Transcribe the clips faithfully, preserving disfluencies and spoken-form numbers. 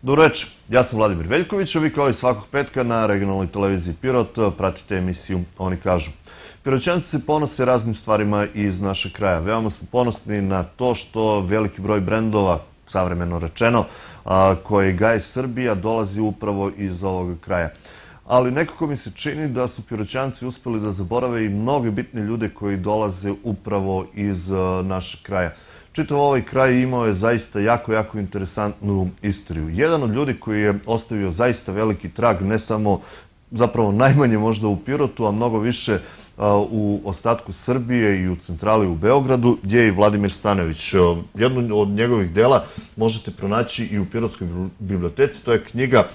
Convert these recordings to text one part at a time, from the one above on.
Dobro večer, ja sam Vladimir Veljković, a vi kao i svakog petka na regionalnoj televiziji Pirot pratite emisiju Oni kažu. Piroćanci se ponose raznim stvarima iz našeg kraja. Veoma smo ponosni na to što veliki broj brendova, savremeno rečeno, koje gaje Srbija, dolazi upravo iz ovog kraja. Ali nekako mi se čini da su Piroćanci uspeli da zaborave i mnoge bitne ljude koji dolaze upravo iz našeg kraja. Čitav ovaj kraj imao je zaista jako, jako interesantnu istoriju. Jedan od ljudi koji je ostavio zaista veliki trag, ne samo, zapravo najmanje možda u Pirotu, a mnogo više u ostatku Srbije i u centrali u Beogradu, je i Vladimir Stanojević. Jedno od njegovih dela možete pronaći i u Pirotskoj biblioteci. To je knjiga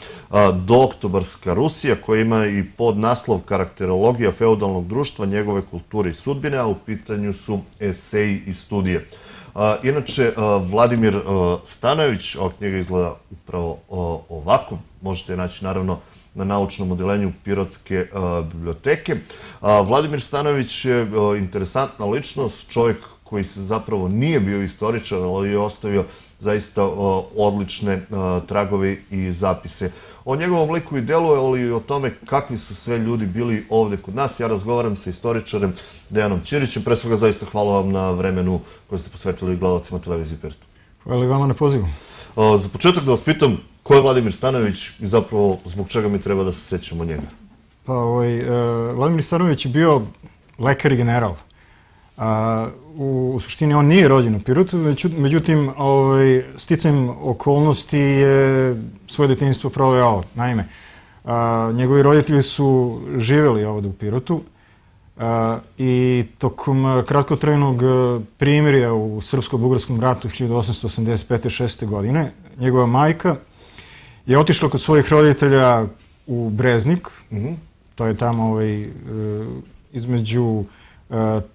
Dooktobarska Rusija, koja ima i podnaslov Karakterologija feudalnog društva, njegove kulture i sudbine, a u pitanju su eseji i studije. Inače, Vladimir Stanojević, ova knjiga izgleda upravo ovako, možete je naći naravno na naučnom odeljenju Pirotske biblioteke. Vladimir Stanojević je interesantna ličnost, čovjek koji se zapravo nije bio istoričar, ali je ostavio zaista odlične tragove i zapise. O njegovom liku i delu, ali i o tome kakvi su sve ljudi bili ovde kod nas. Ja razgovaram sa istoričarem Dejanom Ćirićem. Pre svega zaista hvala vam na vremenu koje ste posvetili gledalcima televizije Pirot. Hvala i vama na pozivu. Za početak da vas pitam, ko je Vladimir Stanojević i zapravo zbog čega mi treba da se sećamo njega? Pa, Vladimir Stanojević je bio lekar i general. U suštini on nije rođen u Pirotu, međutim, sticajem okolnosti je svoje detinjstvo proveo. Naime, njegovi roditelji su živjeli ovdje u Pirotu i tokom kratkotrajnog primirja u Srpsko-bugarskom ratu hiljadu osamsto osamdeset pete šeste godine njegova majka je otišla kod svojih roditelja u Breznik, to je tamo između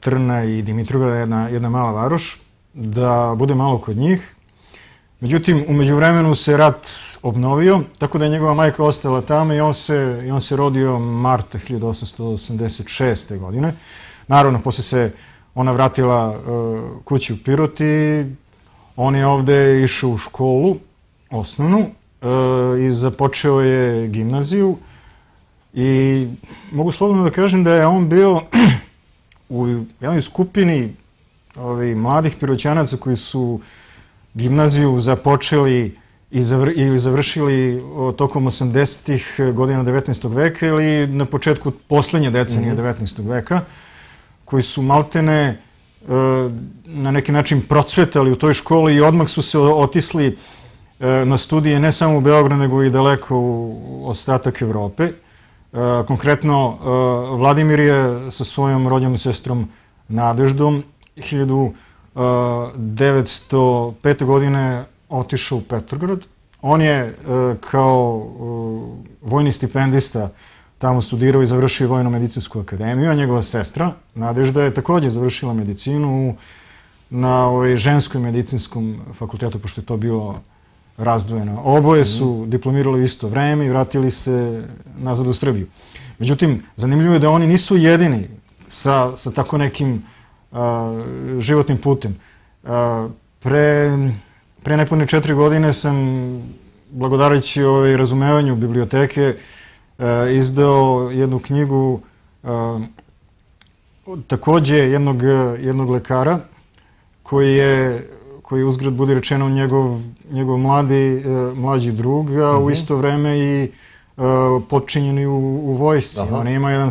Trna i Dimitrovgrada, jedna mala varoš, da bude malo kod njih. Međutim, u međuvremenu se rat obnovio, tako da je njegova majka ostala tamo i on se rodio marta hiljadu osamsto osamdeset šeste godine. Naravno, posle se ona vratila kući u Pirot i on je ovde išao u školu, osnovnu, i započeo je gimnaziju. I mogu slobodno da kažem da je on bio u jednoj skupini mladih Piroćanaca koji su gimnaziju započeli ili završili tokom osamdesetih godina devetnaestog veka ili na početku poslednje decenije devetnaestog veka, koji su maltene na neki način procvetali u toj školi i odmah su se otisli na studije ne samo u Beograd, nego i daleko u ostatak Evrope. Konkretno, Vladimir je sa svojom rođenom sestrom Nadeždom hiljadu devetsto pete. godine otišao u Petrograd. On je kao vojni stipendista tamo studirao i završio Vojno-medicinsku akademiju, a njegova sestra Nadežda je također završila medicinu na ženskom medicinskom fakultetu, pošto je to bilo razdvojeno. Oboje su diplomirali u isto vreme i vratili se nazad u Srbiju. Međutim, zanimljivo je da oni nisu jedini sa tako nekim životnim putem. Pre nepune četiri godine sam, blagodarajući razumevanju biblioteke, izdao jednu knjigu takođe jednog lekara koji je koji uzgled budi rečeno njegov mlađi drug, a u isto vreme i potčinjeni u vojsci. On ima jedan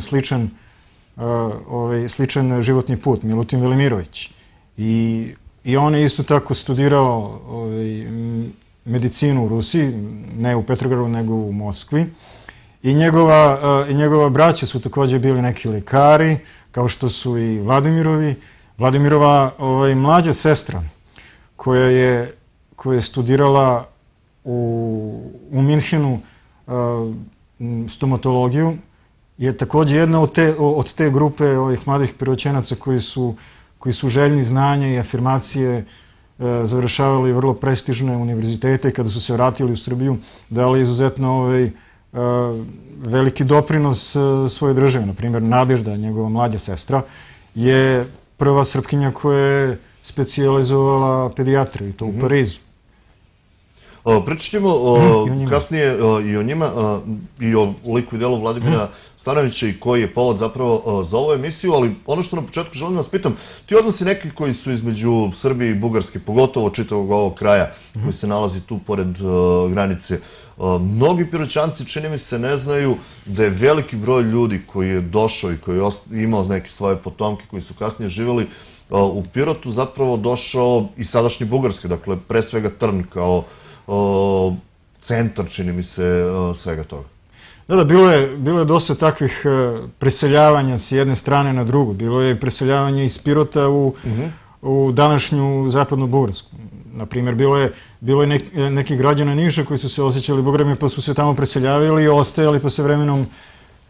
sličan životni put, Milutin Velimirović. I on je isto tako studirao medicinu u Rusiji, ne u Petrogradu, nego u Moskvi. I njegova braća su također bili neki lekari, kao što su i Vladimirovi. Vladimirova mlađa sestra, koja je studirala u Minhenu stomatologiju, je također jedna od te grupe ovih mladih Piroćanaca koji su željni znanja i afirmacije, završavali vrlo prestižne univerzitete i kada su se vratili u Srbiju dali izuzetno veliki doprinos svoje države. Naprimjer, Nadežda, njegova mlađa sestra, je prva Srpkinja koja je specijalizovala pedijatriju i to u Parizu. Pričat ćemo kasnije i o njima i o liku i delu Vladimira Stanojevića i koji je povod zapravo za ovu emisiju, ali ono što na početku želim da vas pitam, ti odnosi neki koji su između Srbije i Bugarske, pogotovo čitavog ovog kraja koji se nalazi tu pored granice, mnogi Piroćanci, čini mi se, ne znaju da je veliki broj ljudi koji je došao i koji je imao neke svoje potomke koji su kasnije živjeli u Pirotu, zapravo došao i sadašnje Bugarske, dakle pre svega Trn kao centar, čini mi se, svega toga. Da, da, bilo je, bilo je dosta takvih preseljavanja s jedne strane na drugu. Bilo je preseljavanje iz Pirota u, u današnju zapadnu Bugarsku. Naprimjer, bilo je, bilo je nek, neki građana Niša koji su se osjećali Bugarima pa su se tamo preseljavali i ostajali pa se vremenom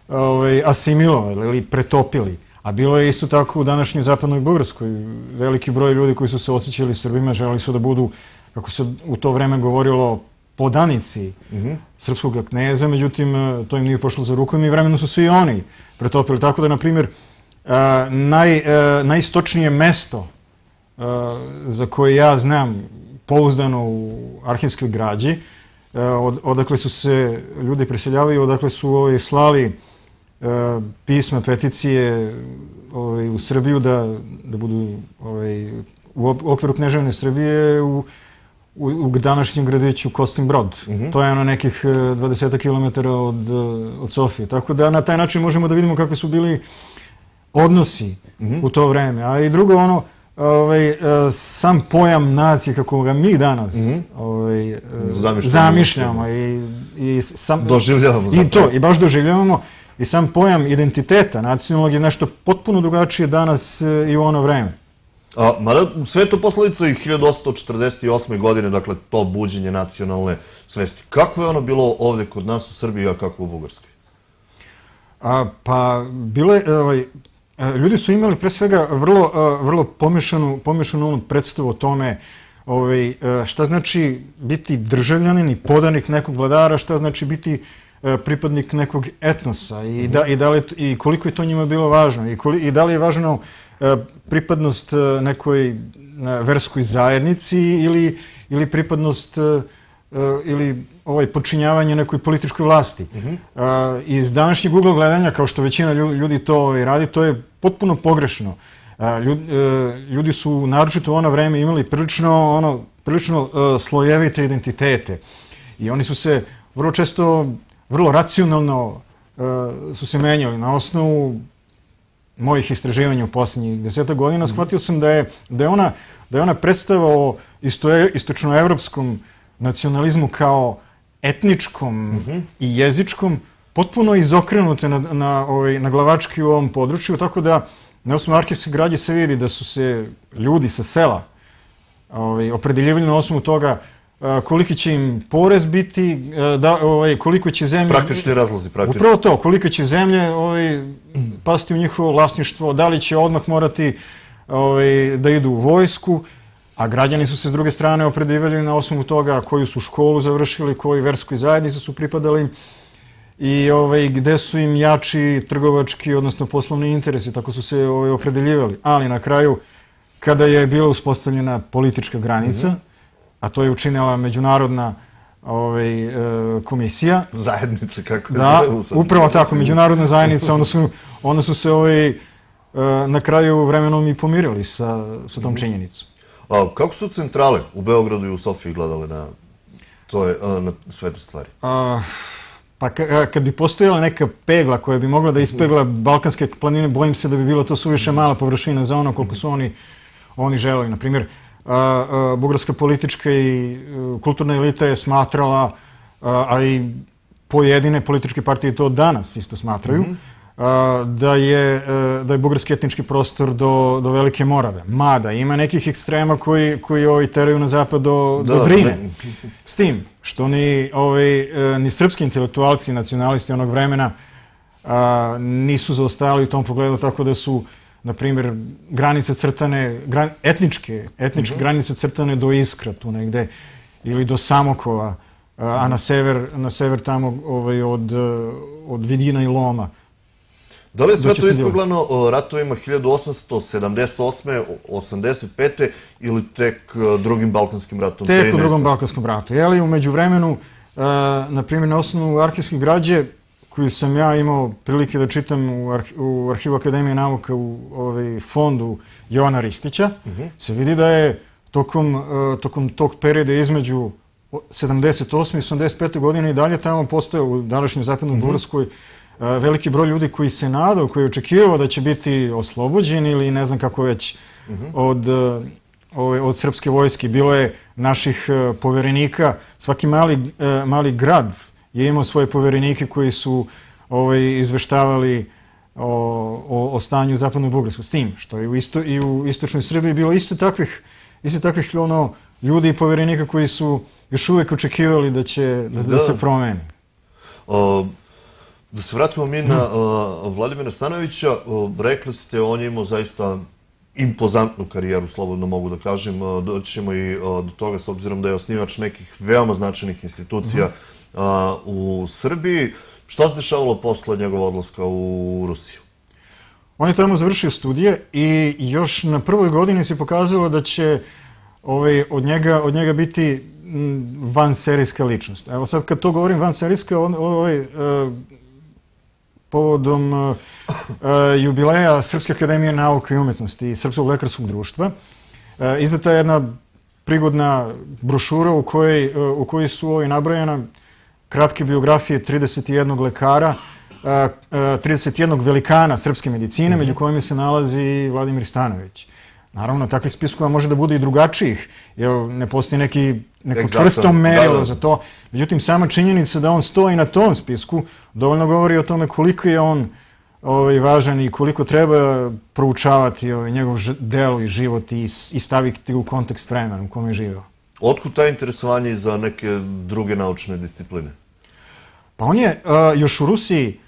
ovaj, asimilovali ili pretopili. A bilo je isto tako u današnjoj zapadnoj Bugarskoj. Veliki broj ljudi koji su se osjećali Srbima želeli su da budu, kako se u to vreme govorilo, podanici srpskog kneza, međutim, to im nije pošlo za rukom i vremeno su se i oni pretopili. Tako da, na primjer, naj, najistočnije mesto za koje ja znam pouzdano u arhivskoj građi, od, odakle su se ljudi preseljavaju, odakle su ovaj, slali pisma, peticije ovaj, u Srbiju da, da budu ovaj, u okviru Kneževne Srbije u u, u današnjem gradiću Kostin Brod. Mm-hmm. To je ono nekih dvadeset kilometara od, od Sofije. Tako da na taj način možemo da vidimo kakvi su bili odnosi mm-hmm. u to vreme. A i drugo, ono, ovaj, sam pojam nacije kako ga mi danas mm-hmm. ovaj, zamišljamo, zamišljamo i, i sam, doživljavamo. I to, i baš doživljavamo. I sam pojam identiteta nacionalnog je nešto potpuno drugačije danas i u ono vreme. A, mada sve je to posledica i hiljadu osamsto četrdeset osme. godine, dakle, to buđenje nacionalne svesti. Kako je ono bilo ovde kod nas u Srbiji, a kako u Bugarskoj? A, pa, bilo je, ovaj, ljudi su imali pre svega vrlo, vrlo pomešanu, pomešanu onu predstavu o tome ovaj, šta znači biti državljanin i podanik nekog vladara, šta znači biti pripadnik nekog etnosa i, da, i, da li, i koliko je to njima bilo važno i, koli, i da li je važno pripadnost nekoj verskoj zajednici ili, ili pripadnost ili ovaj, podčinjavanje nekoj političkoj vlasti. Mm-hmm. Iz današnjeg ugla gledanja, kao što većina ljudi to ovaj, radi, to je potpuno pogrešno. Ljudi, ljudi su naročito u ono vreme imali prilično, ono, prilično slojevite identitete i oni su se vrlo često, vrlo racionalno su se menjali na osnovu mojih istraživanja u posljednjih deseta godina, shvatio sam da je, da je, ona, da je ona predstava o isto, istočnoevropskom nacionalizmu kao etničkom mm-hmm. i jezičkom potpuno izokrenute na, na, ovaj, na glavački u ovom području, tako da na osnovu arhivske građe se vidi da su se ljudi sa sela ovaj, opredeljivali na osnovu toga koliki će im porez biti, da, ovaj, koliko će zemlje... Praktični razlozi, praktični. Upravo to, koliko će zemlje ovaj, pasti u njihovo vlasništvo, da li će odmah morati ovaj, da idu u vojsku, a građani su se s druge strane opredeljivali na osnovu toga koju su školu završili, koju verskoj zajednici su pripadali i ovaj, gde su im jači trgovački, odnosno poslovni interesi, tako su se ovaj, opredeljivali. Ali na kraju, kada je bila uspostavljena politička granica, mm-hmm. a to je učinila međunarodna ovaj, e, komisija. Zajednica, kako je da, upravo tako, međunarodna zajednica, onda su, onda su se ovaj, e, na kraju vremenom i pomirili sa, sa tom činjenicom. A kako su centrale u Beogradu i u Sofiji gledale na, to je, na sve te stvari? A, pa ka, kad bi postojala neka pegla koja bi mogla da ispegla Balkanske planine, bojim se da bi bilo to suviše mala površina za ono koliko su oni, oni želeli. Na primjer, bugarska politička i kulturna elita je smatrala, a i pojedine političke partije to danas isto smatraju, mm-hmm. da, je, da je bugarski etnički prostor do, do Velike Morave. Mada ima nekih ekstrema koji, koji ovaj, teraju na zapad do, da, do Drine. Da. S tim što ni, ovaj, ni srpski intelektualci, nacionalisti onog vremena a, nisu zaostajali u tom pogledu, tako da su na primjer, granice crtane, gran, etničke, etničke mm-hmm. granice crtane do Iskra, tu negde, ili do Samokova, a, a na sever, na sever tamo ovaj, od, od Vidina i Loma. Da li je sve to ispeglano ratovima hiljadu osamsto sedamdeset osme. osamdeset pete ili tek drugim Balkanskim ratom? Tek u drugom Balkanskom ratu. Jeli, u međuvremenu, na primjer, na osnovu arhivske građe, koju sam ja imao prilike da čitam u Arhivu Akademije nauka u fondu Jovana Ristića, se vidi da je tokom tog perioda između sedamdeset osme i osamdeset pete godine i dalje tamo postoje u današnjoj Zapadnoj Bugarskoj veliki broj ljudi koji se nadao, koji je očekivao da će biti oslobođeni ili ne znam kako već od srpske vojske. Bilo je naših poverenika, svaki mali grad je imao svoje poverenike koji su izveštavali o stanju u Zapadnoj Bugarskoj. S tim što je i u istočnoj Srbiji bilo isto takvih ljudi i poverenika koji su još uvijek očekivali da će da se promeni. Da se vratimo mi na Vladimira Stanojevića, rekli ste, on je imao zaista impozantnu karijeru, slobodno mogu da kažem, doći ćemo i do toga s obzirom da je osnivač nekih veoma značajnih institucija u Srbiji. Šta se dešavalo posle njegova odlaska u Rusiju? On je tamo završio studije i još na prvoj godini se pokazalo da će od njega biti vanserijska ličnost. Evo sad kad to govorim vanserijska, povodom jubileja Srpske akademije nauke i umetnosti i Srpskog lekarskog društva, izdata je jedna prigodna brošura u kojoj su nabrojena kratke biografije trideset jednog lekara, trideset jednog velikana srpske medicine, među kojima se nalazi i Vladimir Stanojević. Naravno, takvih spiskova može da bude i drugačijih, jer ne postoji neko čvrsto merilo za to. Međutim, sama činjenica da on stoji na tom spisku dovoljno govori o tome koliko je on važan i koliko treba proučavati njegov delo i život i staviti u kontekst vremena u kome je živeo. Otkud ta interesovanje i za neke druge naučne discipline? Pa on je još u Rusiji,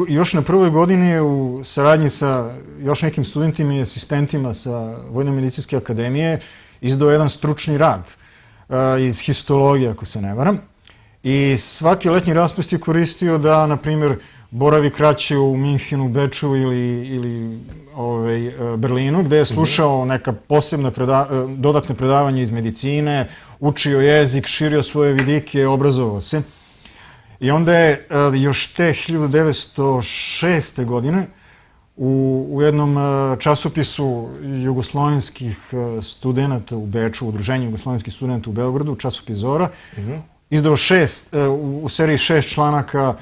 još na prvoj godini u saradnji sa još nekim studentima i asistentima sa Vojno-medicinske akademije izdao jedan stručni rad iz histologije, ako se ne varam. I svaki letnji raspust je koristio da, na primjer, boravi kraće u Minhenu, Beču ili Berlinu, gde je slušao neka posebna dodatne predavanja iz medicine, učio jezik, širio svoje vidike, obrazovao se. I onda je još te hiljadu devetsto šeste. godine u jednom časopisu jugoslovenskih studenta u Beču, Udruženju jugoslovenskih studenta u Beogradu, časopis Zora, izdao u seriji šest članaka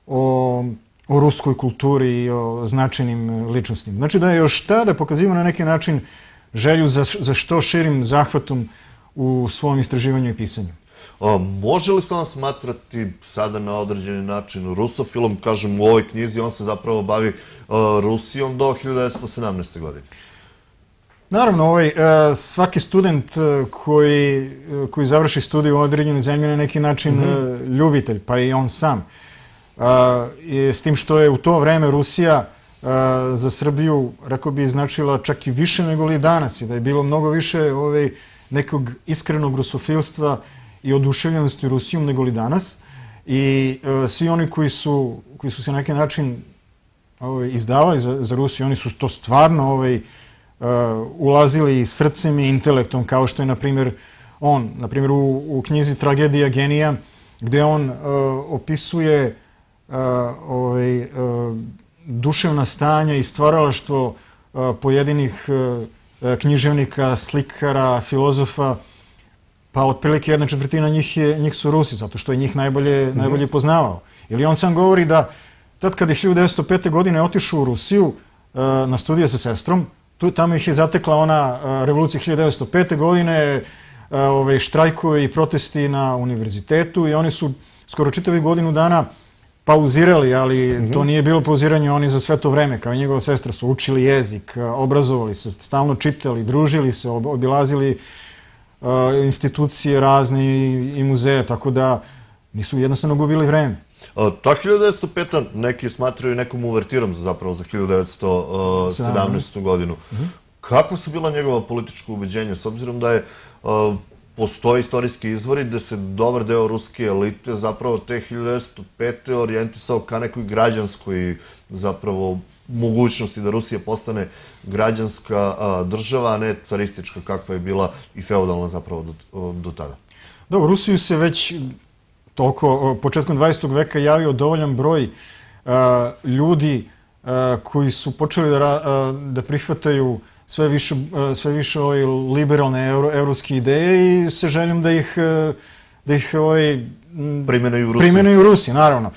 o ruskoj kulturi i o značajnim ličnostima. Znači da je još tada pokazivao na neki način želju za što širim zahvatom u svom istraživanju i pisanju. Može li se on smatrati sada na određeni način rusofilom? Kažem, u ovoj knjizi on se zapravo bavi Rusijom do hiljadu devetsto sedamnaeste. godine. Naravno, svaki student koji završi studiju u određenoj zemlji na neki način ljubitelj, pa i on sam. S tim što je u to vreme Rusija za Srbiju, rekao bi, značila čak i više nego li danas, da je bilo mnogo više nekog iskrenog rusofilstva i oduševljenosti Rusijom nego li danas. I svi oni koji su se na neki način izdavali za Rusiju, oni su to stvarno ulazili i srcem i intelektom, kao što je, na primjer, on, na primjer, u knjizi Tragedija genija, gde on opisuje duševna stanja i stvaralaštvo pojedinih književnika, slikara, filozofa, pa otprilike jedna četvrtina njih su Rusi, zato što je njih najbolje poznavao. Ili on sam govori da tad kad je hiljadu devetsto pete. godine otišao u Rusiju na studije sa sestrom, tamo ih je zatekla ona revolucija hiljadu devetsto pete. godine, štrajkovi i protesti na univerzitetu i oni su skoro čitavi godinu dana pauzirali, ali to nije bilo pauziranje, oni za sve to vreme, kao i njegova sestra, su učili jezik, obrazovali se, stalno čitali, družili se, obilazili institucije razne i muzeje, tako da nisu jednostavno gubili vreme. Ta hiljadu devetsto peta. neki smatraju nekom uvertirom zapravo za hiljadu devetsto sedamnaestu. godinu. Kakva su bila njegova politička ubeđenja, s obzirom da je postoje istorijski izvori gde se dobar deo ruske elite zapravo te hiljadu devetsto pete. orijentisao ka nekoj građanskoj zapravo mogućnosti da Rusija postane građanska država, a ne caristička kakva je bila i feudalna zapravo do tada. Dobro, Rusiju se već toliko, početkom dvadesetog veka javio dovoljan broj ljudi koji su počeli da prihvataju sve više, sve više ove liberalne evropske ideje i sa željom da ih, da ih primenaju u Rusiji. Primenaju u Rusiji, naravno.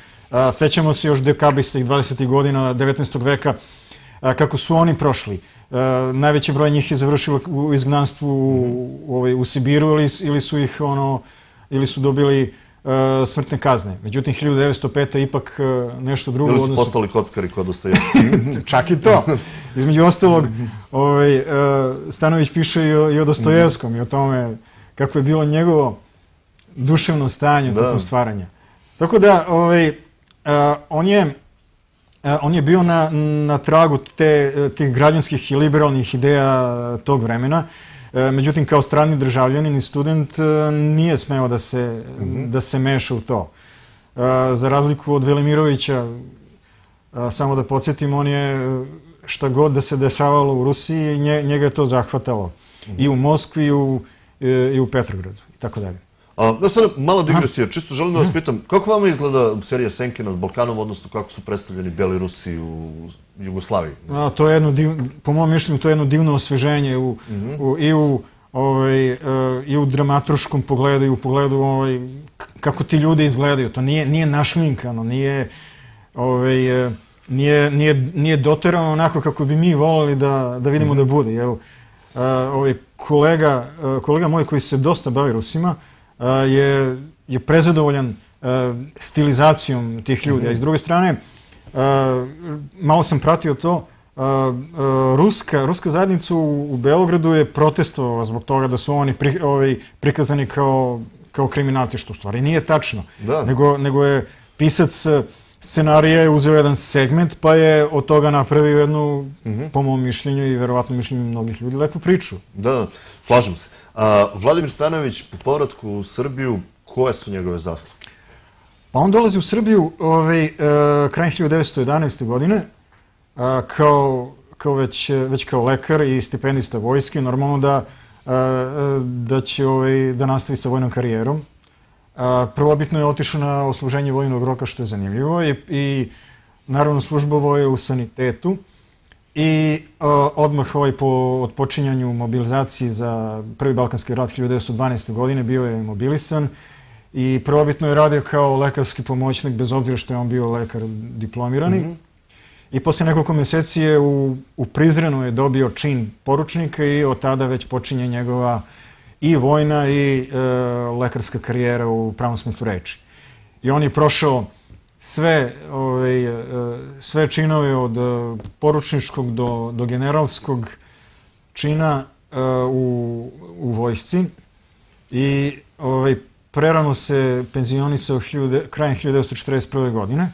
Sećamo se još dekabristih dvadesetih godina devetnaestog veka kako su oni prošli. Najveći broj njih je završilo u izgnanstvu u Sibiru ili su ih ono, ili su dobili smrtne kazne. Međutim, hiljadu devetsto pete. ipak nešto drugo. Ili su postali kockari kod Dostojevskog. Čak i to. Između ostalog, Stanović piše i o Dostojevskom i o tome kako je bilo njegovo duševno stanje tokom stvaranja. Tako da, on je on je bio na tragu tih građanskih i liberalnih ideja tog vremena. Međutim, kao strani državljanin i student nije smeo da se meša u to. Za razliku od Velimirovića, samo da podsjetim, on je šta god da se dešavalo u Rusiji, njega je to zahvatalo. I u Moskvi, i u Petrogradu, i tako dalje. Da sada mala digresija, čisto želim da vas pitam, kako vama izgleda serija Senke nad Balkanom, odnosno kako su predstavljeni Beli Rusi u Jugoslaviji? To je jedno, po mojom mišljenju, to je jedno divno osveženje i u dramaturškom pogledu i u pogledu kako ti ljudi izgledaju. To nije našminkano, nije doterano onako kako bi mi volili da vidimo da bude. Kolega moj koji se dosta bavi Rusima je prezadovoljan stilizacijom tih ljudi. A s druge strane, malo sam pratio to, ruska zajednica u Beogradu je protestovala zbog toga da su oni prikazani kao kriminalci, što u stvari nije tačno. Nego je pisac scenarija uzeo jedan segment pa je od toga napravio jednu, po mom mišljenju i verovatno mišljenju mnogih ljudi, lepu priču. Da, slažem se. Vladimir Stanojević po povratku u Srbiju, koje su njegove zasluge? Pa on dolazi u Srbiju krajem hiljadu devetsto jedanaeste. godine već kao lekar i stipendista vojske. Normalno da će da nastavi sa vojnom karijerom. Prvobitno je otišao na odsluženje vojnog roka, što je zanimljivo, i naravno službovao je u sanitetu. I odmah po odpočinjanju mobilizacije za Prvi Balkanski rat hiljadu devetsto dvanaeste. godine bio je mobilisan i prvobitno je radio kao lekarski pomoćnik, bez obzira što je on bio lekar diplomirani. I posle nekoliko meseci je u Prizrenu je dobio čin poručnika i od tada već počinje njegova i vojna i lekarska karijera u pravom smislu reči. I on je prošao sve činove od poručničkog do generalskog čina u vojsci i prerano se penzionisao krajem hiljadu devetsto četrdeset prve. godine.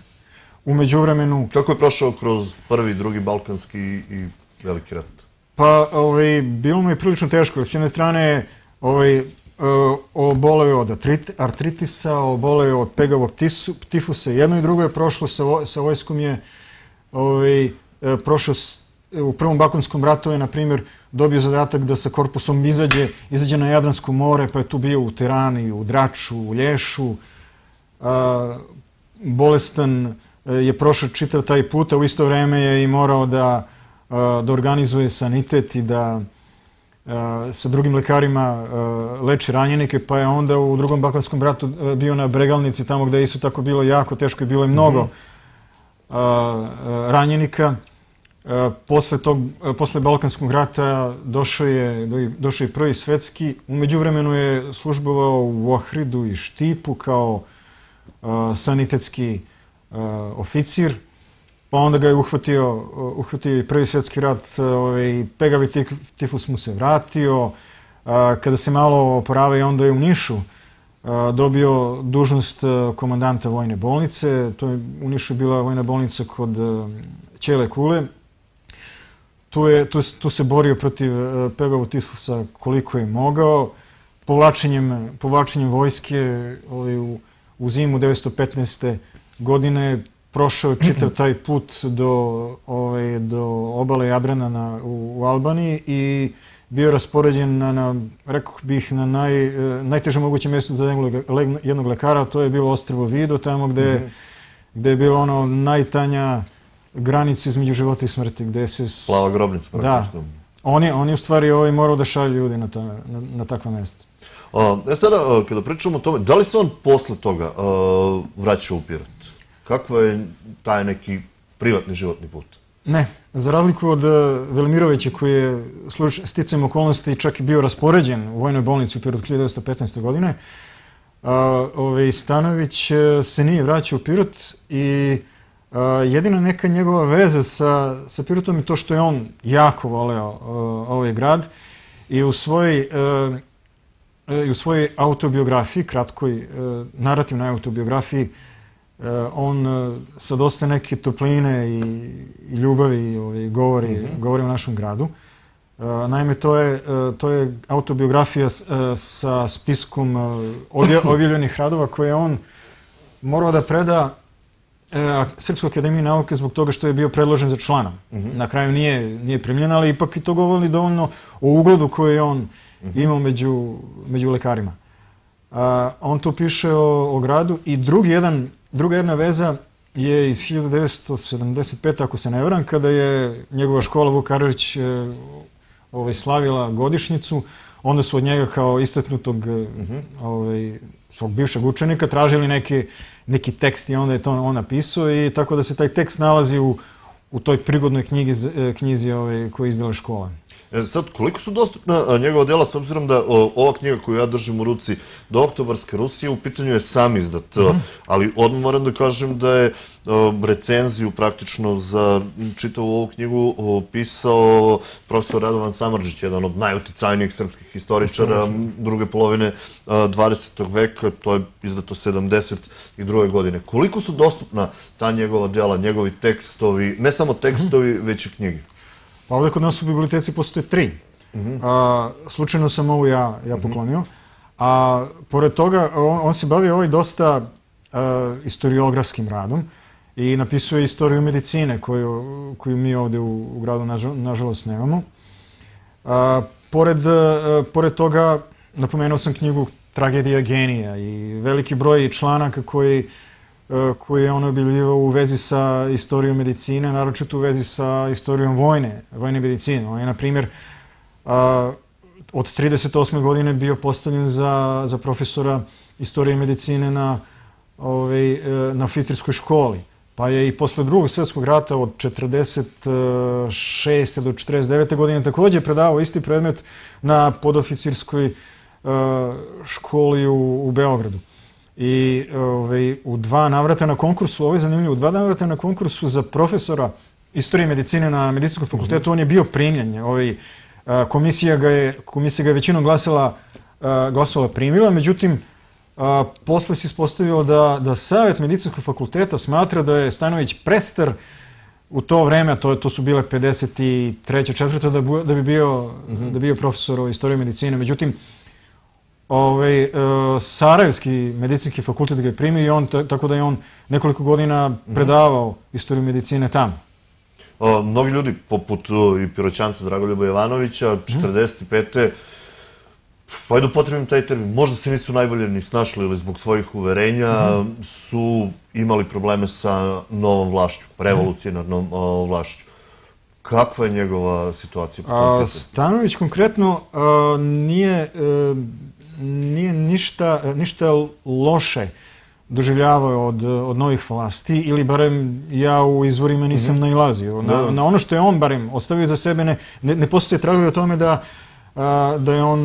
U međuvremenu... Kako je prošao kroz Prvi, Drugi Balkanski i Veliki rat? Pa, bilo mu je prilično teško. S jedne strane, oboleo je od artritisa, oboleo je od pegavog tifusa. Jedno i drugo je prošlo. Sa vojskom je prošao u Prvom Balkanskom ratu je, na primjer, dobio zadatak da sa korpusom izađe na Jadransko more, pa je tu bio u Tirani, u Draču, u Lješu. Bolestan je prošao čitav taj put, a u isto vreme je i morao da organizuje sanitet i da sa drugim lekarima leči ranjenike, pa je onda u Drugom Balkanskom ratu bio na Bregalnici, tamo gde je isto tako bilo jako teško i bilo je mnogo ranjenika. Posle Balkanskog rata došao je Prvi svetski. U međuvremenu je službovao u Ohridu i Štipu kao sanitetski oficir, pa onda ga je uhvatio i Prvi svjetski rat, pegavi tifus mu se vratio. Kada se malo oporavio, onda je u Nišu dobio dužnost komandanta vojne bolnice. U Nišu je bila vojna bolnica kod Ćele Kule. Tu se borio protiv pegavog tifusa koliko je mogao. povlačenjem, povlačenjem vojske ovaj, u, u zimu devetsto petnaeste. godine prošao čitav taj put do, ovaj, do obale Jadrana na, u, u Albaniji i bio raspoređen na, na rekao bih, na naj, najtežem mogućem mjestu za jednog, jednog lekara, to je bilo ostrvo Vido, tamo gde, mm-hmm. gde je bilo ono najtanja granica između života i smrti, gde se... Plava grobnica. Da. Oni, oni u stvari ovaj, morao da šalju ljudi na, ta, na, na takva mjesta. E sada, kada pričamo o tome, da li se on posle toga uh, vraćao u Pirot? Kakva je taj neki privatni životni put? Ne, za razliku od Velimirovića koji je sticajem okolnosti čak i bio raspoređen u vojnoj bolnici u Pirotu hiljadu devetsto petnaeste. godine, ovaj, Stanojević se nije vraćao u Pirot i a, jedina neka njegova veza sa, sa Pirotom je to što je on jako voleo a, ovaj grad i u svojoj i u svojoj autobiografiji, kratkoj narativnoj autobiografiji, on sa dosta neke topline i, i ljubavi ovaj, govori, mm-hmm. govori o našem gradu. Naime, to je, to je autobiografija sa spiskom objavljenih radova koje on morao da preda Srpskoj akademiji nauke zbog toga što je bio predložen za člana. Mm-hmm. Na kraju nije, nije primljen, ali ipak i to govori dovoljno o ugledu koji je on mm-hmm. imao među, među lekarima. A, on to piše o, o gradu i drugi jedan Druga jedna veza je iz hiljadu devetsto sedamdeset pete. ako se ne varam, kada je njegova škola Vuk Karadžić ovaj, slavila godišnjicu. Onda su od njega kao istaknutog mm-hmm. ovaj, svog bivšeg učenika tražili neki, neki tekst i onda je to on napisao i tako da se taj tekst nalazi u, u toj prigodnoj knjigi, knjizi ovaj, koju je izdala škola. E, sad, koliko su dostupna njegova djela, s obzirom da o, ova knjiga koju ja držim u ruci, Do oktobarske Rusije, u pitanju je sam izdat, mm-hmm. ali odmah moram da kažem da je o, recenziju praktično za čitavu ovu knjigu o, pisao profesor Radovan Samardžić, jedan od najuticajnijih srpskih historičara druge polovine a, dvadesetog veka, to je izdato sedamdeset druge. godine. Koliko su dostupna ta njegova djela, njegovi tekstovi, ne samo tekstovi, mm-hmm. već i knjige? Pa ovdje kod nas u biblioteci postoje tri. Mm-hmm. A, slučajno sam ovu ja, ja poklonio. A pored toga, on, on se bavi ovaj dosta a, historiografskim radom i napisuje istoriju medicine koju, koju mi ovdje u, u gradu nažal, nažalost nemamo. A, pored, a, pored toga, napomenuo sam knjigu Tragedija genija i veliki broj članaka koji koji je on objavljivao u vezi sa istorijom medicine, naročito u vezi sa istorijom vojne, vojne medicine. On je, na primjer, od trideset osme. godine bio postavljen za, za profesora istorije medicine na, ovaj, na Filterskoj školi. Pa je i posle drugog svjetskog rata od četrdeset šeste. do četrdeset devete. godine također predavao isti predmet na podoficirskoj školi u, u Beogradu. I ovaj, u dva navrata na konkursu, ovo je zanimljivo, u dva navrata na konkursu za profesora istorije medicine na Medicinskom fakultetu, mm-hmm. on je bio primljen. Ovaj, komisija, ga je, komisija ga je većinom glasala, glasala primila, međutim, a, posle se ispostavilo da, da Savjet Medicinskog fakulteta smatra da je Stanojević prestar u to vreme, to, to su bile pedeset treće. četvrte. da, da bi bio, mm-hmm. da bio profesor istorije medicine. Međutim, Ovaj, e, Sarajevski medicinski fakultet ga je primio i on, tako da je on nekoliko godina predavao istoriju medicine tamo. O, mnogi ljudi, poput i Piroćanca Dragoljuba Jovanovića, četrdeset pete. Pa ajde upotrebim taj termin, možda se nisu najbolje ni snašli ili zbog svojih uverenja mm-hmm. su imali probleme sa novom vlašću, revolucionarnom mm-hmm. vlašću. Kakva je njegova situacija po tom pitanju? Stanojević konkretno a, nije... A, nije ništa, ništa loše doživljavao od, od novih vlasti ili barem ja u izvorima nisam mm-hmm. nailazio. Na, na ono što je on barem ostavio za sebe ne, ne, ne postoje tragovi o tome da, a, da, je on,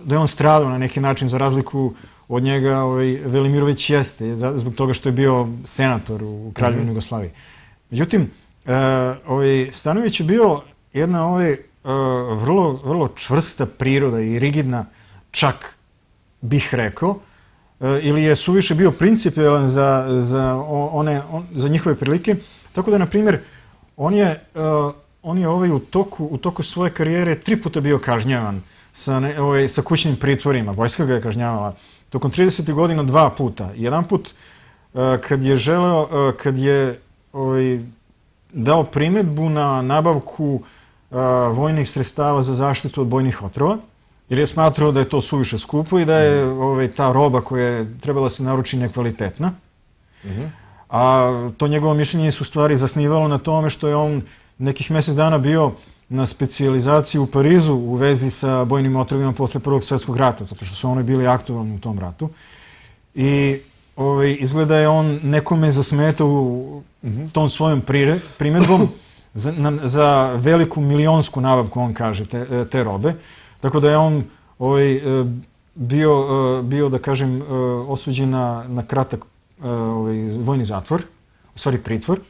da je on stradao na neki način za razliku od njega. Ovaj, Velimirović jeste zbog toga što je bio senator u Kraljevini mm-hmm. Jugoslaviji. Međutim, a, ovaj, Stanojević je bio jedna ovaj, a, vrlo, vrlo čvrsta priroda i rigidna, čak bih rekao, ili je suviše bio principijalan za, za, one, on, za njihove prilike. Tako da, na primjer, on je, on je ovaj u, toku, u toku svoje karijere tri puta bio kažnjavan sa, ne, ovaj, sa kućnim pritvorima. Vojska ga je kažnjavala tokom tridesetih godina dva puta. Jedan put uh, kad je želeo, uh, kad je ovaj, dao primedbu na nabavku uh, vojnih sredstava za zaštitu od bojnih otrova, jer je smatrao da je to suviše skupo i da je ovaj, ta roba koja je trebala se naruči nekvalitetna. Mm-hmm. A to njegovo mišljenje se u stvari zasnivalo na tome što je on nekih mjesec dana bio na specijalizaciji u Parizu u vezi sa bojnim otrovima posle Prvog svjetskog rata, zato što su oni bili aktualni u tom ratu. I ovaj, izgleda je on nekome zasmetao u mm-hmm. tom svojom primedbom za, na, za veliku milionsku nabavku, on kaže, te, te robe. Tako da je on ovaj, bio, bio, da kažem, osuđen na, na kratak ovaj, vojni zatvor, u stvari pritvor.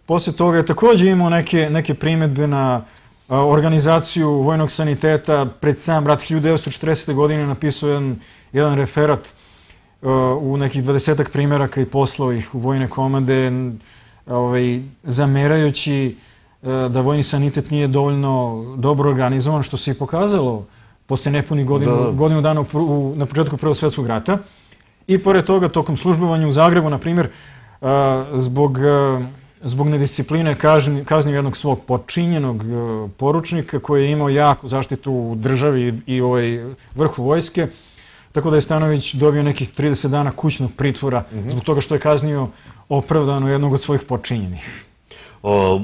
Poslije toga je također imao neke, neke primjedbe na organizaciju vojnog saniteta. Pred sam rat hiljadu devetsto četrdeset. godine napisao jedan, jedan referat u nekih dvadesetak primjeraka i poslao ih u vojne komande, ovaj, zamerajući da vojni sanitet nije dovoljno dobro organizovan, što se i pokazalo posle nepunih godinu, da. godinu dana u, u, na početku Prvog svjetskog rata. I pored toga, tokom službovanja u Zagrebu, na primjer, zbog, zbog nediscipline kazni, kaznio jednog svog podčinjenog poručnika koji je imao jaku zaštitu u državi i ovaj vrhu vojske, tako da je Stanojević dobio nekih trideset dana kućnog pritvora mm-hmm. zbog toga što je kaznio opravdano jednog od svojih podčinjenih. O...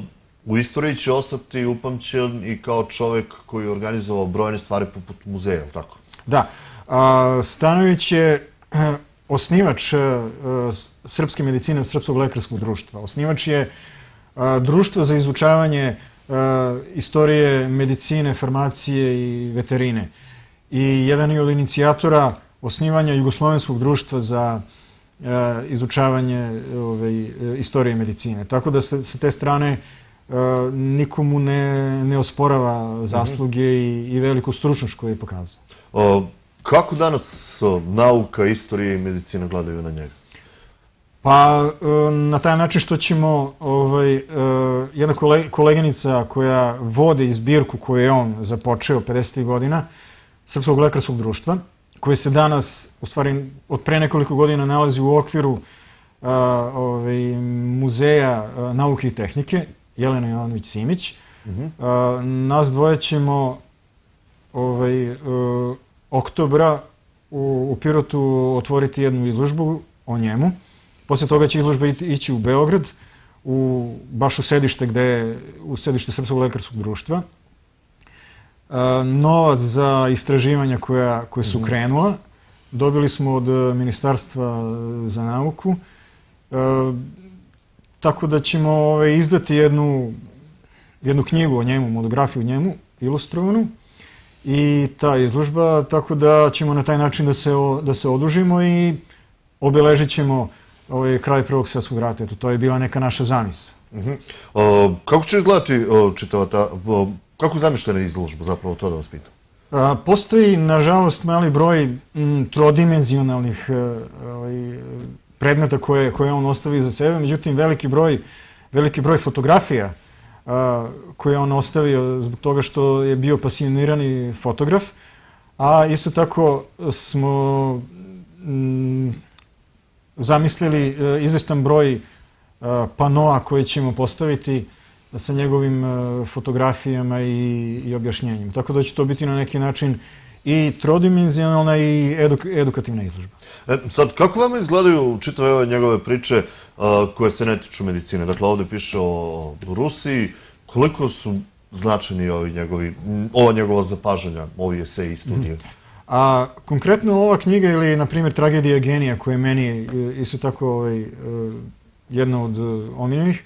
U istoriji će ostati upamćen i kao čovjek koji je organizovao brojne stvari poput muzeja, je li tako? Da. Stanojević je osnivač srpske medicine, Srpskog lekarskog društva. Osnivač je društva za izučavanje istorije medicine, farmacije i veterine. I jedan je od inicijatora osnivanja Jugoslovenskog društva za izučavanje ove, istorije medicine. Tako da se, sa te strane nikomu ne, ne osporava zasluge i, i veliku stručnost koju je pokazao. O, kako danas o, nauka, istorija i medicina gledaju na njega? Pa na taj način što ćemo ovaj, jedna koleginica koja vodi zbirku koju je on započeo pedesetih godina, Srpskog lekarskog društva, koji se danas, u stvari od pre nekoliko godina, nalazi u okviru a, ovaj, Muzeja a, nauke i tehnike, Jelena Jovanović-Simić. Mm-hmm. a, nas dvoje ćemo ovaj, a, oktobra u, u Pirotu otvoriti jednu izložbu o njemu. Poslije toga će izložba ići u Beograd, u, baš u sedište, gde je u sedište Srpskog lekarskog društva. Novac za istraživanja koja, koje su krenula dobili smo od Ministarstva za nauku, e, tako da ćemo ove, izdati jednu, jednu knjigu o njemu, monografiju o njemu, ilustrovanu, i ta izložba, tako da ćemo na taj način da se, da se odužimo i obeležit ćemo ovaj, kraj Prvog svjetskog rata. Eto, to je bila neka naša zamisao. Uh-huh. o, kako će izgledati o, čitava ta... O, kako zamišljena izložba, zapravo, to da vas pitam? A, postoji, nažalost, mali broj m, trodimenzionalnih ovaj, predmeta koje, koje on ostavi za sebe, međutim, veliki broj, veliki broj fotografija a, koje on ostavio zbog toga što je bio pasionirani fotograf, a isto tako smo m, zamislili izvestan broj a, panoa koje ćemo postaviti sa njegovim fotografijama i, i objašnjenjem. Tako da će to biti na neki način i trodimenzionalna i eduk, edukativna izložba. E, sad, kako vama izgledaju čitave ove njegove priče a, koje se ne tiču medicine? Dakle, ovdje piše o Rusiji. Koliko su značajni ovi njegovi, ova njegova zapažanja, ovi eseji i studije? Mm. A konkretno ova knjiga ili, na primjer, Tragedija genija, koja je meni isto tako ovaj, jedna od omiljenih,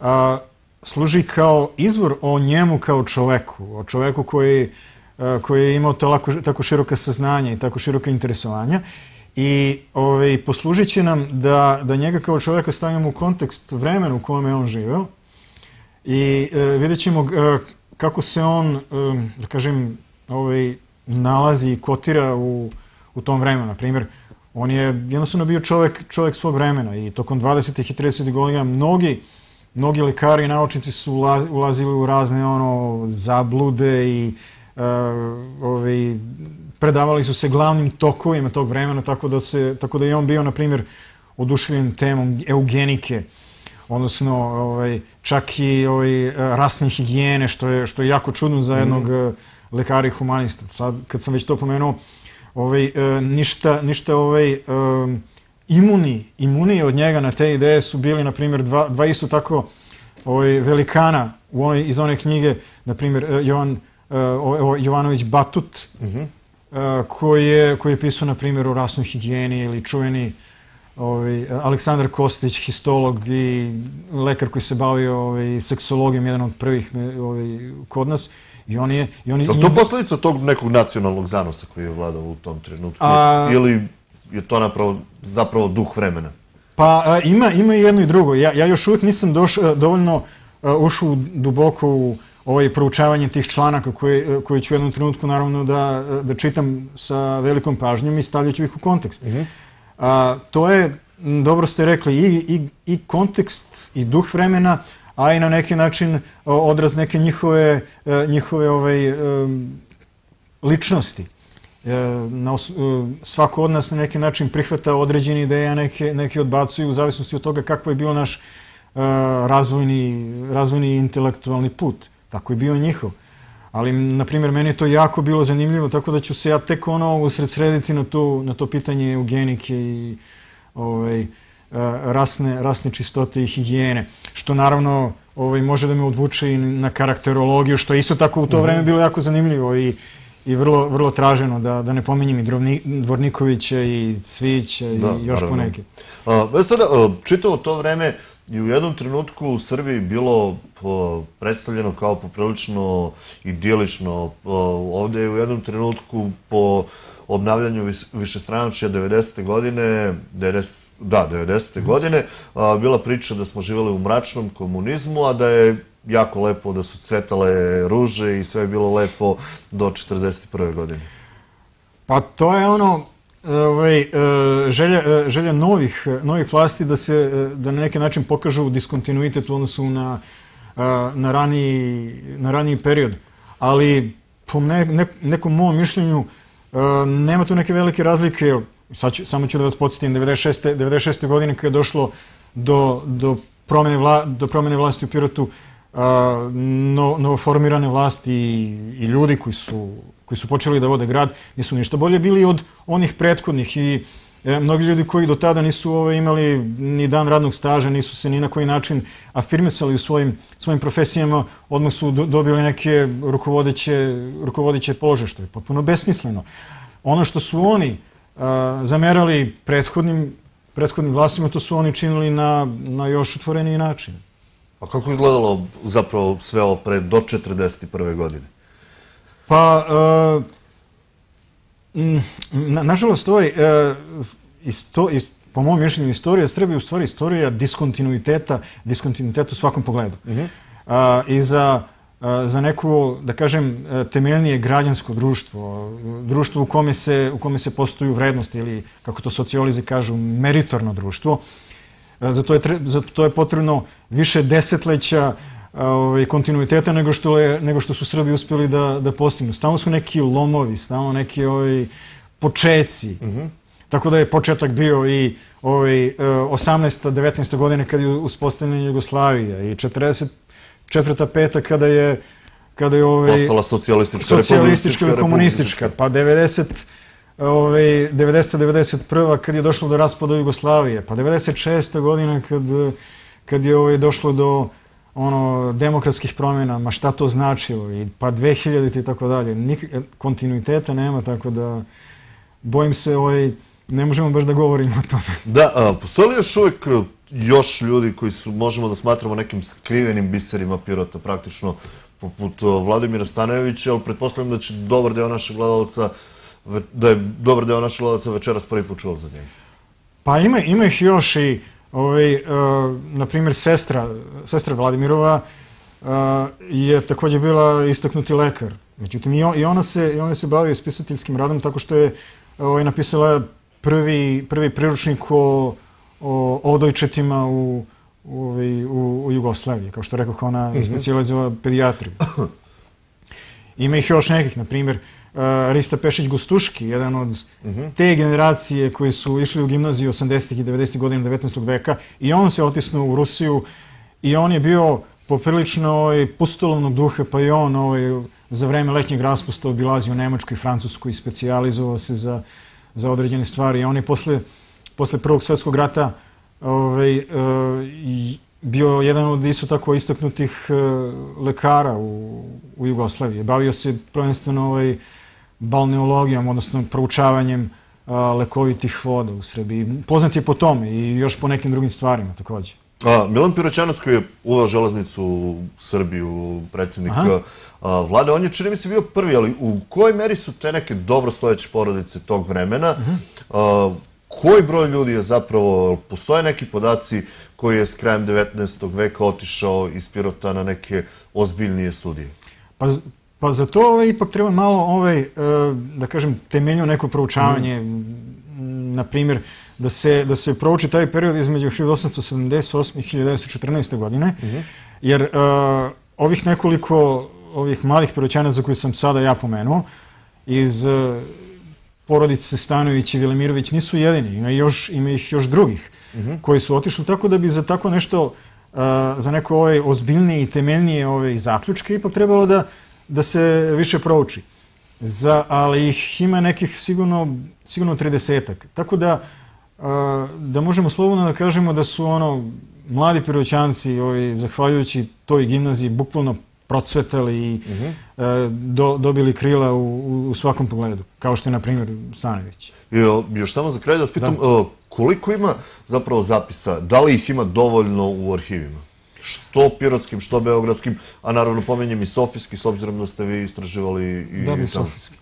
a, služi kao izvor o njemu kao čoveku, o čoveku koji, koji je imao tako, tako široka saznanja i tako široka interesovanja. I ovaj, poslužit će nam da, da njega kao čoveka stavimo u kontekst vremena u kojem je on živeo i e, vidjet ćemo e, kako se on, e, da kažem, ovaj, nalazi i kotira u, u tom vremenu. Na primjer, on je jednostavno bio čovek, čovek svog vremena i tokom dvadesetih i tridesetih godina mnogi Mnogi lekari i naučnici su ulazili u razne ono, zablude i predavali su se glavnim tokovima tog vremena, tako da je on bio, na primjer, oduševljen temom eugenike, odnosno čak i rasne higijene, što je jako čudno za jednog lekara i humanista. Sad, kad sam već to pomenuo, ništa imuni, imuniji od njega na te ideje su bili, na primjer, dva isto tako velikana iz one knjige, na primjer, Jovanović Batut, koji je pisao, na primjer, o rasnoj higijeni, ili čuveni Aleksandar Kostić, histolog i lekar koji se bavio seksologijom, jedan od prvih kod nas. Je li to posljedica tog nekog nacionalnog zanosa koji je vladao u tom trenutku? Ili je to zapravo duh vremena? Pa ima i jedno i drugo. Ja još uvijek nisam dovoljno ušao duboko u proučavanje tih članaka koje ću u jednom trenutku naravno da čitam sa velikom pažnjom i stavljat ću ih u kontekst. To je, dobro ste rekli, i kontekst i duh vremena, a i na neki način odraz neke njihove ličnosti. Svako od nas na neki način prihvata određene ideje, a neki odbacuju u zavisnosti od toga kako je bio naš razvojni i intelektualni put. Tako je bio njihov. Ali, na primjer, meni je to jako bilo zanimljivo, tako da ću se ja tek ono usredsrediti na to pitanje eugenike i rasne čistote i higijene, što naravno može da me odvuče i na karakterologiju, što je isto tako u to vreme bilo jako zanimljivo i vrlo traženo, da ne pominjem i Dvornikovića i Cvijića i još poneke. Sada, čitavo to vreme i u jednom trenutku u Srbiji bilo predstavljeno kao poprilično idilično. Ovde je u jednom trenutku po obnavljanju višestranačja devedesete godine, da, devedesete godine, bila priča da smo živjeli u mračnom komunizmu, a da je jako lepo, da su cvetale ruže i sve je bilo lepo do četrdeset prve godine. Pa to je ono, želja novih vlasti da na neki način pokažu diskontinuitet u odnosu na raniji period. Ali po nekom mom mišljenju nema tu neke velike razlike. Samo ću da vas podsjetim, devedeset šeste godine kada je došlo do promjene vlasti u Pirotu, novoformirane vlasti i ljudi koji su počeli da vode grad nisu ništa bolje bili od onih prethodnih i mnogi ljudi koji do tada nisu imali ni dan radnog staža, nisu se ni na koji način afirmisali u svojim profesijama, odmah su dobili neke rukovodeće položaje, što je potpuno besmisleno. Ono što su oni zamerali prethodnim vlastima, to su oni činili na još otvoreniji način. A kako je izgledalo zapravo sve ovo pre do četrdeset prve godine? Pa, nažalost, po mojom mišljenju, istorija Srbije je u stvari istorija diskontinuiteta, diskontinuiteta u svakom pogledu. I za neko, da kažem, temeljnije građansko društvo, društvo u kome se postoju vrednosti ili, kako to sociolozi kažu, meritorno društvo, za to je potrebno više desetleća kontinuiteta nego što su Srbi uspjeli da postignu. Stalno su neki lomovi, stalno neki počeci. Tako da je početak bio i osamnaesta, devetnaesta godine kada je uspostavljena Jugoslavija i četrdeset četvrta peta kada je postala socijalistička i komunistička, pa devedeset devedeset prva kad je došlo do raspada Jugoslavije, pa devedeset šesta godina kad je došlo do demokratskih promjena, ma šta to značilo, pa dve hiljadite i tako dalje. Kontinuiteta nema, tako da bojim se, ne možemo baš da govorimo o tome. Da, postoji li još uvijek još ljudi koji su, možemo da smatramo nekim skrivenim biserima Pirota, praktično poput Vladimira Stanojevića, ali pretpostavljam da će dobar deo naših gledalaca da je dobar deo naših gledalaca večeras prvi put čuo za njega? Pa ima ih još i, na primjer, sestra Vladimirova je također bila istaknuti lekar. Međutim, i ona se bavi spisateljskim radom tako što je napisala prvi priručnik o odojčetima u Jugoslaviji. Kao što rekao, ona je specijalizovala pedijatriju. Ima ih još nekih, na primjer, Rista Pešić-Gustuški, jedan od te generacije koji su išli u gimnaziju osamdesetih i devedesetih godina devetnaestog veka, i on se otisnuo u Rusiju i on je bio poprilično pustolovnog duha, pa i on za vreme letnjeg raspusta obilazio Nemačku i Francusku i specijalizovao se za određene stvari. I on je posle Prvog svjetskog rata bio jedan od isto tako istaknutih lekara u Jugoslaviji. Bavio se prvenstveno balneologijom, odnosno proučavanjem lekovitih voda u Srbiji. Poznat je po tome i još po nekim drugim stvarima također. Milan Piroćanac, koji je uveo železnicu u Srbiju, predsjednik vlade, on je, čini mi se, bio prvi, ali u kojoj meri su te neke dobrostojeće porodice tog vremena? Koji broj ljudi je zapravo, postoje neki podaci koji je s krajem devetnaestog veka otišao iz Pirota na neke ozbiljnije studije? Pa za to ipak treba malo, da kažem, temeljno neko proučavanje. Na primjer, da se prouči taj period između hiljadu osamsto sedamdeset osme i hiljadu devetsto četrnaeste. godine, jer ovih nekoliko ovih mladih Piroćanaca koje sam sada ja pomenuo iz porodice Stanojević i Velimirović nisu jedini, ima ih još drugih koji su otišli, tako da bi za tako nešto, za neko ozbiljnije i temeljnije zaključke ipak trebalo da se više prouči. Ali ih ima nekih sigurno tridesetak. Tako da da možemo slobodno da kažemo da su ono mladi Piroćanci, zahvaljujući toj gimnaziji, bukvalno procvetali i dobili krila u svakom pogledu, kao što je, na primjer, Stanojević. Još samo za kraj da vas pitam, koliko ima zapravo zapisa, da li ih ima dovoljno u arhivima? Što pirotskim, što beogradskim, a naravno pomenjem i sofijski, s obzirom da ste vi istraživali i... Da, bi sofijski.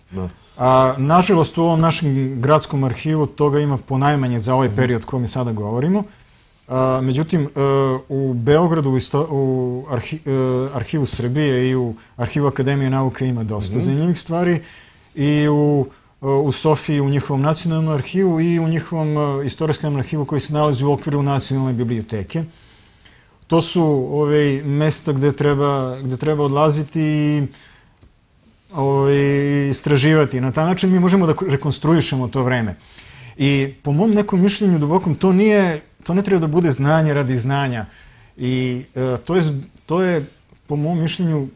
Nažalost, u ovom našem gradskom arhivu toga ima ponajmanje za ovaj period koji mi sada govorimo. Međutim, u Beogradu, u Arhivu Srbije i u Arhivu Akademije nauke ima dosta zanimljivih stvari, i u Sofiji, u njihovom nacionalnom arhivu, i u njihovom istorijskom arhivu koji se nalazi u okviru nacionalne biblioteke. To su mesta gde treba odlaziti i istraživati. Na taj način mi možemo da rekonstruišemo to vreme. I po mom nekom mišljenju dubokom, to nije, to ne treba da bude znanje radi znanja. I to je, po mom mišljenju,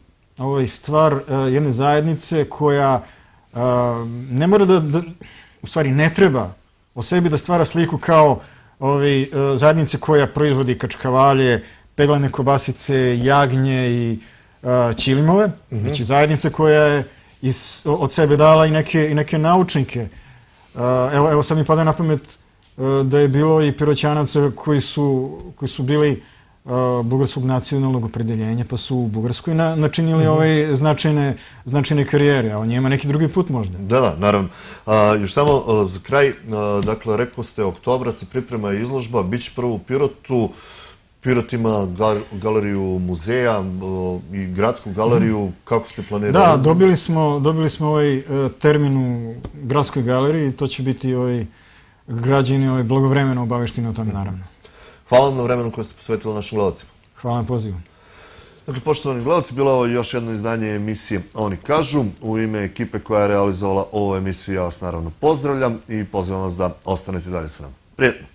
stvar jedne zajednice koja ne mora da, u stvari ne treba o sebi da stvara sliku kao zajednice koja proizvodi kačkavalje, peglane kobasice, jagnje i ćilimove. Znači zajednica koja je od sebe dala i neke naučnike. Evo sad mi pada na pamet da je bilo i Piroćanaca koji su bili bugarskog nacionalnog opredeljenja, pa su u Bugarskoj načinili ove značajne karijere, a on njima neki drugi put možda. Da, da, naravno. Još samo za kraj, dakle, rekao ste, oktobra se priprema izložba, bit će prvo u Pirotu. Pirot ima galeriju muzeja i gradsku galeriju. Kako ste planirali? Da, dobili smo ovaj termin u gradskoj galeriji i to će biti građani blagovremeno obavešteni o tome, naravno. Hvala vam na vremenu koje ste posvetili našim gledalcima. Hvala na pozivu. Dakle, poštovani gledalci, bilo je ovo još jedno izdanje emisije Oni kažu. U ime ekipe koja je realizovala ovu emisiju ja vas naravno pozdravljam i pozivam vas da ostanete dalje sa nama. Prijetno!